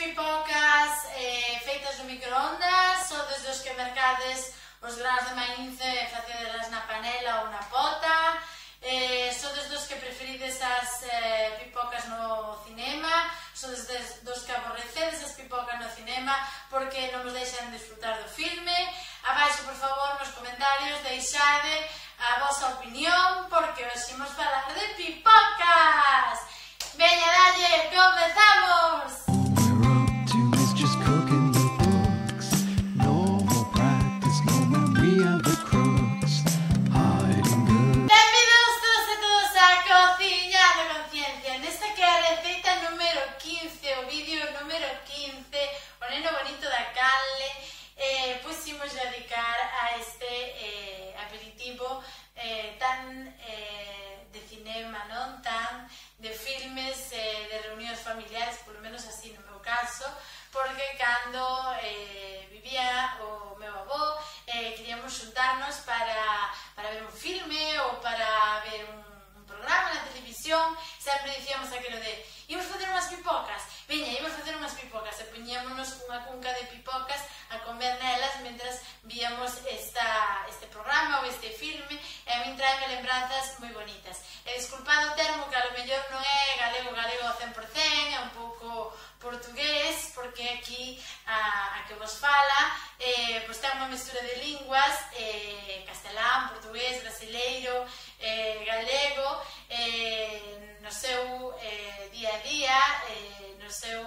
pipocas feitas no microondas, sodes dos que mercades os graos de maíz e facedelas na panela ou na pota, sodes dos que preferides as pipocas no cinema, sodes dos que aborrecedes as pipocas no cinema porque non vos deixan disfrutar do filme. Abaixo, por favor, nos comentarios deixade a vosa opinión porque hoxe imos falar de pipocas. Veña, dalle, comezamos! Familiares, polo menos así no meu caso, porque cando vivía o meu avó queríamos xuntarnos para ver un filme ou para ver un programa na televisión. Sempre dicíamos aquilo de imos facer unhas pipocas, veña, imos facer unhas pipocas, e poñémonos unha cunca de pipocas a comer nelas mentras víamos este programa ou este filme, e a min traeme lembranzas moi bonitas. E disculpado o termo que a lo mellor non é galego ao 100%, é un pouco portugués, porque aquí a que vos fala pois ten unha mestura de linguas, castelán, portugués, brasileiro, galego, no seu día a día, no seu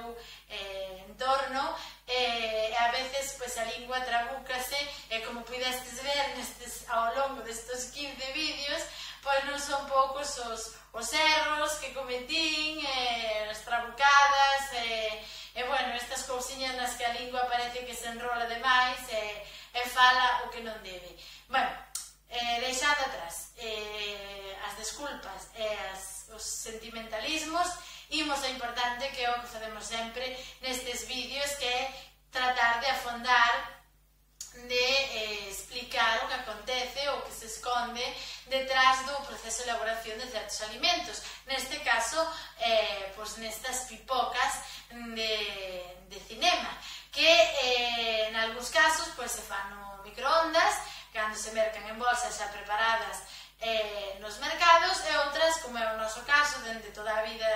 entorno, e a veces pois a lingua trabúcase, e como pudestes ver ao longo destes 15 vídeos, pois non son poucos os erros que cometín, as trabucadas, e bueno, estas cousiñas nas que a lingua parece que se enrola demais e fala o que non debe. Bueno, deixade atrás as desculpas e os sentimentalismos, imos ao importante que é o que facemos sempre nestes vídeos, que é tratar de afondar, de explicar o que acontece ou que se esconde detrás do proceso de elaboración de certos alimentos. Neste caso, pois nestas pipocas de cinema, que en algúns casos pois se fan no microondas, cando se mercan en bolsas xa preparadas nos mercados, e outras, como é o noso caso, dende toda a vida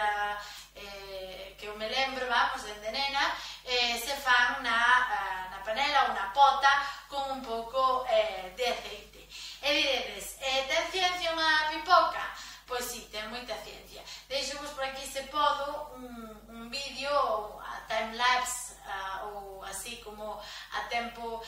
que eu me lembro, vamos, dende nena, se fan na panela ou na pota con un pouco de aceite. E diredes, ten ciencia unha pipoca? Pois sí, ten moita ciencia. Deixo-vos por aquí, se podo, un vídeo, a time-lapse, ou así como a tempo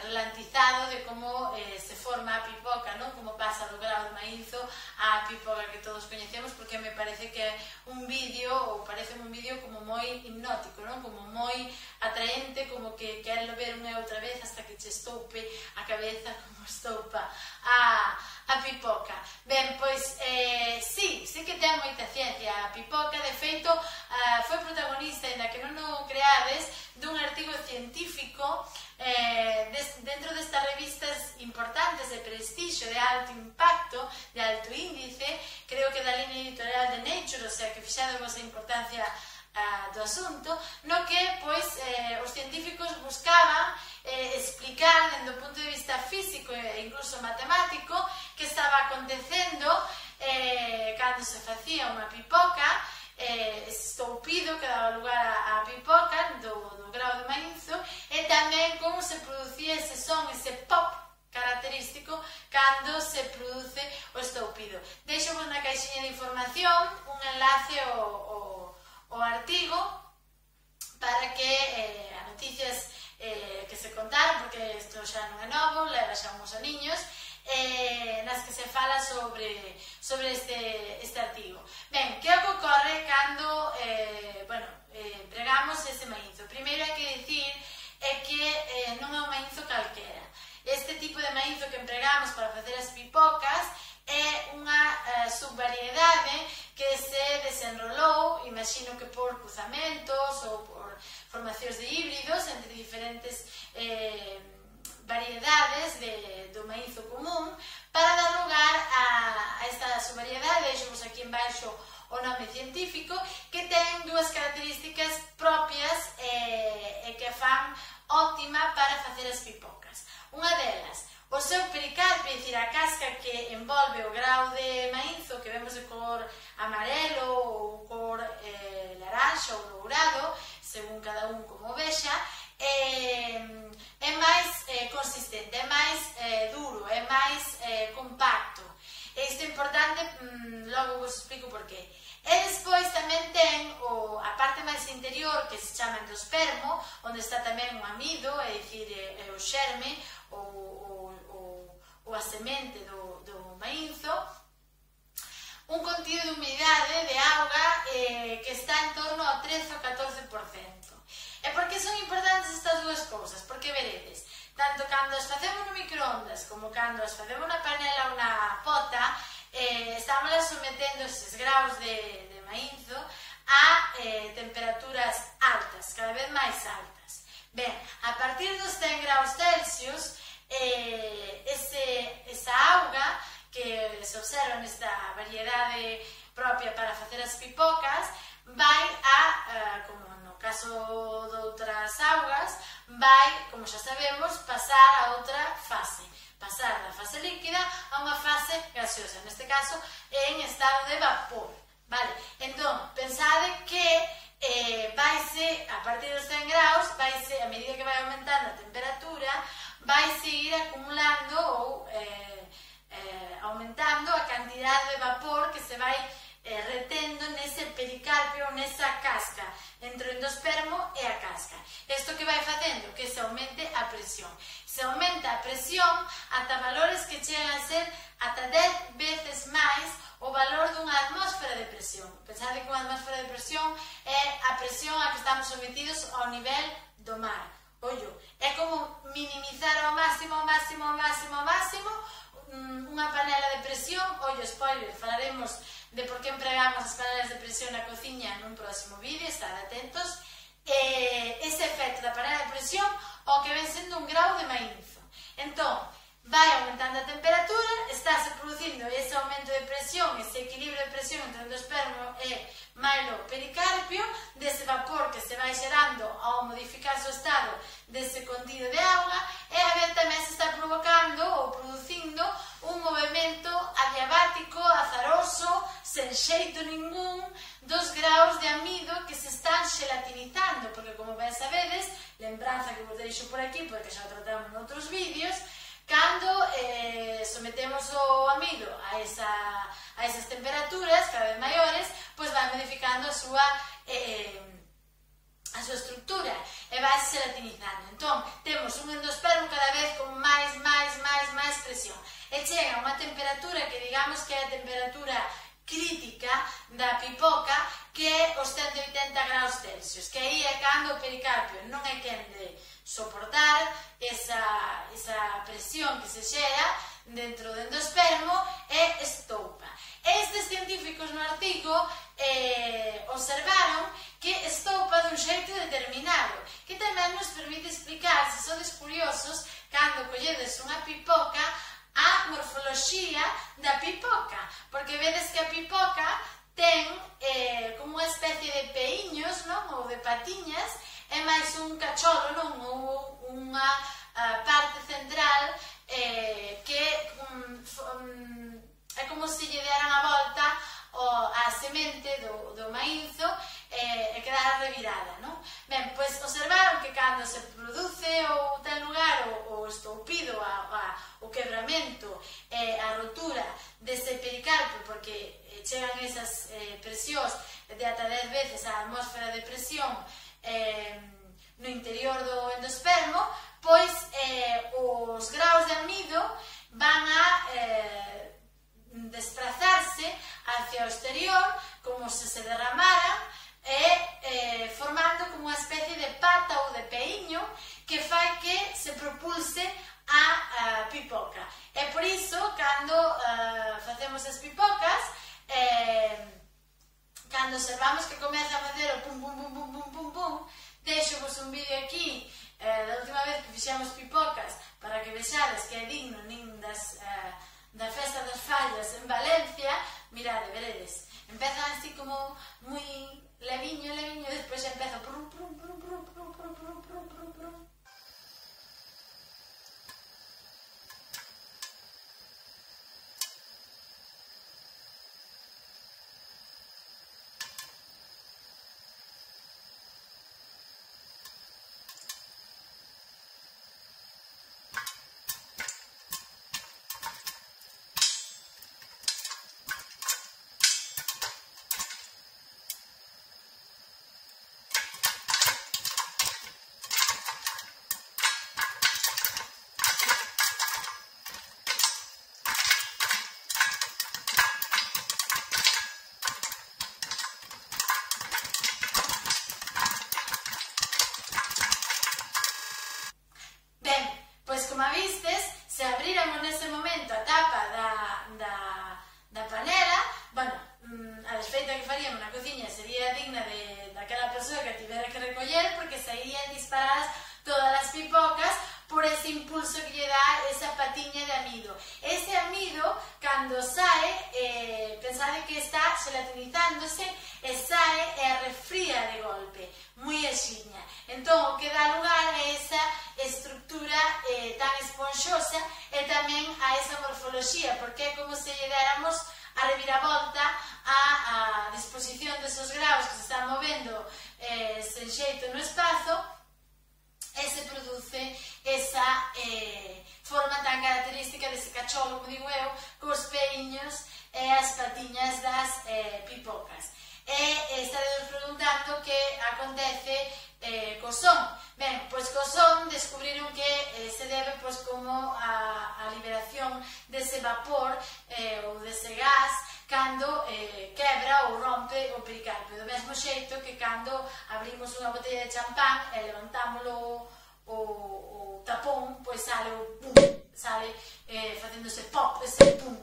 ralentizado de como se forma a pipoca, non? Como pasa do grao de maízo á pipoca que todos coñecemos, porque me parece que é un vídeo, ou parece un vídeo como moi hipnótico, non? Como moi atraente, como que quero ver unha e outra vez hasta que che estoupe a cabeza como estoupa a pipoca. Ben, pois, sí que ten moita ciencia a pipoca. De feito, foi protagonista, ainda que non o creades, dun artigo científico dentro destas revistas importantes de prestixio, de alto impacto, de alto índice, creo que da línea editorial de Nature, o sea que fixadevos a importancia do asunto, no que pois os científicos buscaban explicar dende o punto de vista físico e incluso matemático que estaba acontecendo cando se facía unha pipoca, ese estoupido que daba lugar á pipoca do grao de maízo, e tamén como se producía ese son, ese pop característico cando se produce o estoupido. Deixo-vos na caixinha de información un enlace ao artigo para que as noticias que se contaron, porque isto xa non é novo, leva xa uns aniños, nas que se fala sobre este artigo. Ben, que o que ocorre cando empregamos ese maízo? Primeiro hai que dicir que non é un maízo calquera. Este tipo de maízo que empregamos para facer as pipocas é unha subvariedade que se desenrolou, imagino que por cruzamentos ou por formacións de híbridos entre diferentes variedades do maízo común, para dar lugar a esta subvariedade. Deixamos aquí embaixo o nome científico, que ten dúas características propias dicir, a casca que envolve o grao de maízo que vemos de cor amarelo ou cor laranxa ou dourado, según cada un como vexa, é máis consistente, é máis duro, é máis compacto. Isto é importante, logo vos explico por qué. E despois tamén ten a parte máis interior que se chama endospermo, onde está tamén o amido, é dicir, o xerme ou a semente do maízo, un contido de humidade de auga que está en torno ao 13 ou 14%. E por que son importantes estas dúas cousas? Porque veredes, tanto cando as facemos no microondas como cando as facemos na panela ou na pota, estamos sometendo esses graus de maízo a temperaturas altas, cada vez máis altas. Ben, a partir dos 100 graus Celsius, esa auga que se observa nesta variedade propia para facer as pipocas vai como no caso de outras augas, vai, como xa sabemos, pasar a outra fase, pasar da fase líquida a unha fase gaseosa, neste caso en estado de vapor, vale? Entón, pensade que vaise, a partir dos 100 graus, vaise, a medida que vai aumentando a temperatura, vaise ir acumulando ou aumentando a cantidade de vapor que se vai retendo nese pericarpio ou nesa casca, entre o endospermo e a casca. Isto que vai facendo? Que se aumente a presión. Se aumenta a presión ata valores que chegan a ser ata 10 veces máis o valor dunha atmósfera de presión. Pensade que unha atmósfera de presión é a presión a que estamos sometidos ao nivel do mar. Ollo, é como minimizar ao máximo unha panela de presión. Ollo, spoiler, falaremos de por que empregamos as panelas de presión na cociña nun próximo vídeo, estad atentos. Ese efecto da panela de presión o que ven sendo un grau de maízo. Entón, vai aumentando a temperatura, estáse producindo ese aumento de presión, ese equilibrio de presión entre o endospermo e mailo pericarpio, dese vapor que se vai xerando ao modificarse o estado dese contido de auga, e a vez tamén se está provocando ou producindo un movimento adiabático, azaroso, sen xeito ningún, dos graus de amido que se están xelatinizando, porque como ben sabedes, lembranza que vos deixo por aquí, porque xa o tratamos noutros vídeos, cando sometemos o amido a esas temperaturas cada vez maiores, pois vai modificando a súa estructura e vai se gelatinizando. Entón, temos un endospermo cada vez con máis presión. E chega a unha temperatura que digamos que é a temperatura crítica da pipoca, que é os 180 graus Celsius, que aí é cando o pericarpio non é quen de soportar esa presión que se xera dentro do endospermo e estoupa. Estes científicos no artigo observaron que estoupa dun xeito determinado, que tamén nos permite explicar, se sodes curiosos, cando colledes unha pipoca, a morfoloxía da pipoca, porque vedes que a pipoca ten como unha especie de peíños, non? Ou de patiñas, é máis un cacholo, non? Ou unha parte central que é como se lle deran a volta a semente do maízo e quedara revirada, non? Ben, pois observaron que cando se produce ou ten lugar o estoupido, o quebramento, a rotura dese pericarpio, porque chegan esas presións de ata 10 veces a atmósfera de presión no interior do endospermo, pois os graus de amido van a desplazarse hacia o exterior como se derramaran e formando como unha especie de pata ou de peíño que fai que se propulse a pipoca. E por iso, cando facemos as pipocas, cando observamos que comeza a facer o pum pum pum pum pum pum pum, deixo-vos un vídeo aquí da última vez que fixemos pipocas para que vexades que é digno nin da Festa das Fallas en Valencia. Mirade, veredes, empezan así como moi leviño, despois empeza prum prum prum prum prum prum prum prum prum prum. aquela persoa que tivera que recoller porque sairían disparadas todas as pipocas por ese impulso que lle dá esa patiña de amido. Ese amido, cando sae, pensade que está gelatinizándose e sae e refría de golpe, moi axiña. Entón, o que dá lugar a esa estructura tan esponxosa e tamén a esa morfoloxía, porque é como se lle déramos a reviravolta a disposición desos graus que se están movendo sen xeito no espazo, e se produce esa forma tan característica dese cacholo, como digo eu, cos peiños e as patiñas das pipocas. E estaredes preguntando que acontece co son. Ben, pois co son descubriron que se debe pois como a liberación dese vapor ou dese gas cando quebra ou rompe o pericarpio, do mesmo xeito que cando abrimos unha botella de champán e levantámoslo o tapón, pois sale o pum, sale facéndose pop, ese pum,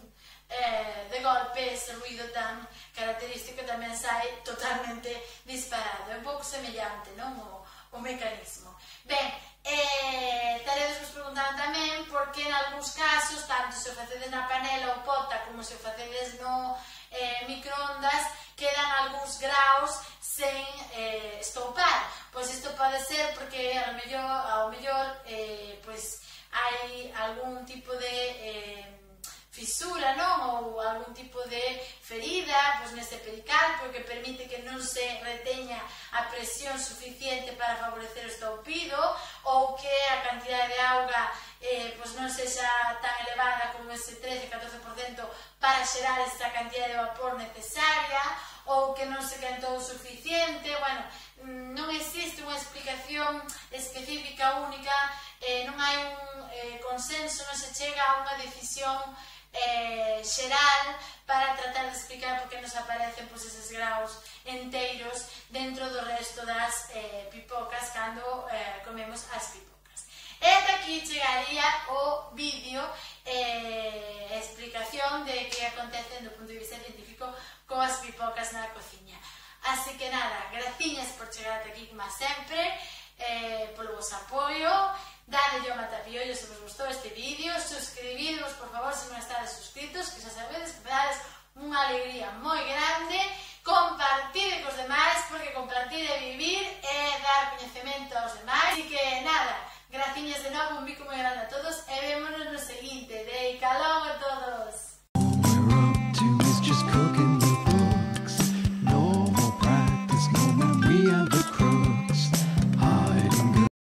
de golpe ese ruido tan característico tamén sai totalmente disparado. É un pouco semellante, non? O mecanismo. Ben, estaredes vos preguntando tamén porque en algúns casos, tanto se o facedes na panela ou pota como se o facedes no microondas, quedan algúns graus sen estoupar. Pois isto pode ser porque ao mellor pois hai algún tipo de fisura, non? Ou algún tipo de ferida pois nese pericarpio que permite que non se reteña a presión suficiente para favorecer o estoupido, ou que a cantidade de auga pois non sexa tan elevada como ese 13-14% para xerar esta cantidade de vapor necesaria, ou que non se quentou o suficiente. Bueno, non existe unha explicación específica única, non hai un consenso, non se chega a unha decisión xeral para tratar de explicar por que nos aparecen pois, eses graus enteiros dentro do resto das pipocas cando comemos as pipocas. E ata aquí chegaría o vídeo explicación de que acontece do punto de vista científico coas pipocas na cociña. Así que nada, graciñas por chegar ata aquí como sempre, polo vos apoio. Dadelle ao matapiollo se vos gustou este vídeo, suscribidvos por favor se non estades suscritos, que xa sabedes que me dades unha alegría moi grande. Compartide cos demais, porque compartir é vivir e dar coñecemento aos demais. Así que nada, graciñas de novo, un bico moi grande a todos